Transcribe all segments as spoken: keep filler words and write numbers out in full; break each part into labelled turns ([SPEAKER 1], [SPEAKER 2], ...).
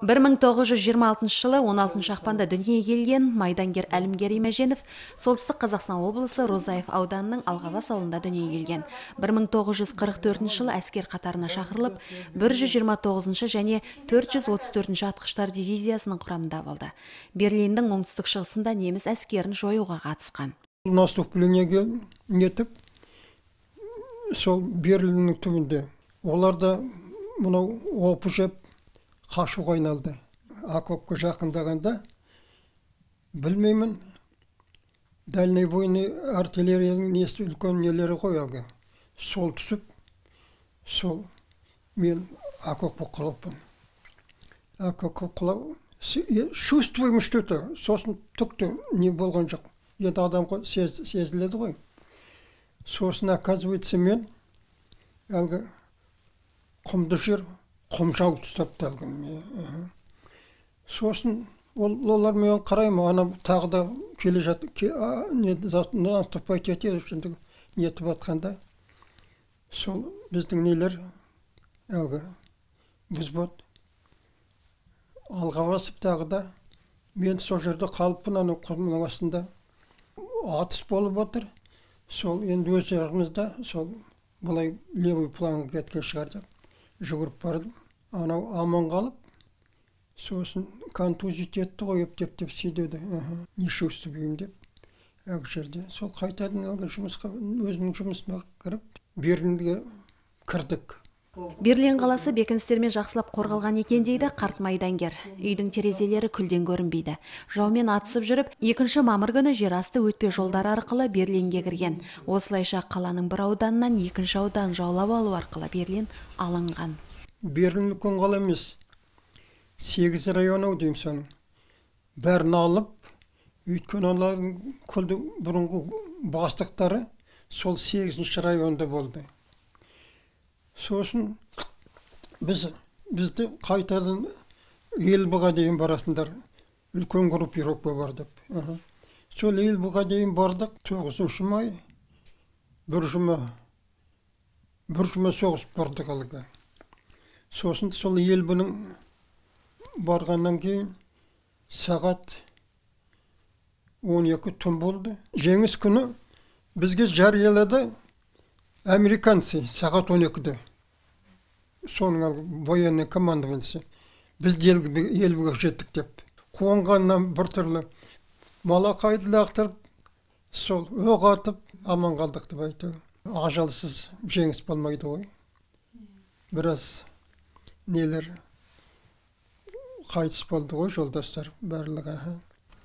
[SPEAKER 1] бір мың тоғыз жүз жиырма алтыншы жылы он алтыншы ақпанда дүниеге келген майдангер Әлімгер Имаженов солтүстік Қазақстан облысы Розаев ауданының Алғабас ауылында дүниеге келген. бір мың тоғыз жүз қырық төртінші жылы әскер қатарына шақырылып, бір жүз жиырма тоғызыншы және төрт жүз отыз төртінші атқыштар дивизиясының құрамында болды. Берлиндің оңтүстік шығысында неміс әскерін жоюға қатысқан.
[SPEAKER 2] Наступлениеге нетіп, сол Берлиннің түбінде оларда мынау опы жеп қашуға айналды. Окопқа жақындағанда, білмеймін, дальнобойный артиллерияның несі үлкен нелері ғой әлгі. Сол түсіп, сол мен окопқа құлаппын. Окопқа құлап, чувствуем что-то, сосын түкті не болған жоқ. Енді адамға сезіледі ғой. Сосын, оказывается, мен әлгі құмды жер құмжау тұстапты әлгі. Сосын олар мен қараймын, ана тағы да келе жатты, наступать етеді, нетіп атқанда. Сол біздің нелер әлгі взвод алға басып тағы да мен сол жерде қалыппын, ана құмның астында атыс болып отыр. Сол енді өз жағымызда сол бұлай левый планға кеткен шығар деп жүгіріп бардым. Анау аман қалып, сосын контузит етті ғой, ептеп-теп сөйдеді. Не чувствуем деп. Әк жерде. Сол қайтадан әлгі жұмысқа, өзінің жұмысына кіріп, Берлинге кірдік.
[SPEAKER 1] Берлин қаласы бекіністермен жақсылап қорғалған екен дейді қарт майдангер. Үйдің терезелері күлден көрінбейді. Жаумен атысып жүріп, екінші мамыр күні жерасты өтпе жолдары арқылы Берлинге кірген. Осылайша қаланың бір ауданынан екінші аудан жаулап алу арқылы Берлин алынған.
[SPEAKER 2] Берлин үлкен қала емес. Сегіз районы деймін соның. Бәрін алып, өйткені олардың күлді бұрынғы бастықтары сол сегізінші районда болды. Сосын біз бізді қайтадан Елбұға дейін барасындар, үлкен группировка бар деп. Сол Елбұға дейін бардық, тоғызыншы май бір жұма бір жұма соғысып бардық алға. Сосын сол Елбұның барғаннан кейін сағат он екі түн болды. Жеңіс күні бізге жариялады американцы сағат он екіде. Соның военный командованиесі. Біз Елбіге жеттік деп. Қуанғаннан бір түрлі малақайды лақтырып, сол оқ атып, аман қалдық деп айтты. Ажалсыз жеңіс болмайды ғой. Біраз нелер қайтыс болды ғой, жолдастар барлығы.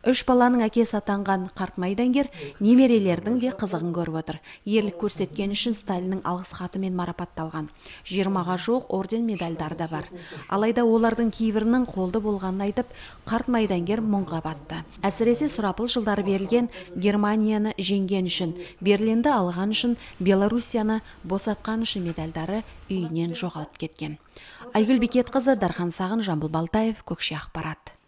[SPEAKER 1] Үш баланың әкесі атанған қарт майдангер немерелердің де қызығын көріп отыр. Ерлік көрсеткен үшін Сталиннің алғыс хатымен марапатталған. жиырмаға жуық орден медальдар да бар. Алайда олардың кейбірінің қолды болғанын айтып, қарт майдангер мұңға батты. Әсіресе сұрапыл жылдары берілген Германияны жеңген үшін, Берлинді алған үшін, Белоруссияны босатқан үшін медальдары үйінен жоғалып кеткен. Айгүл Бекетқызы, Дархан Сағын, Жамбыл Балтаев, Көкше ақпарат.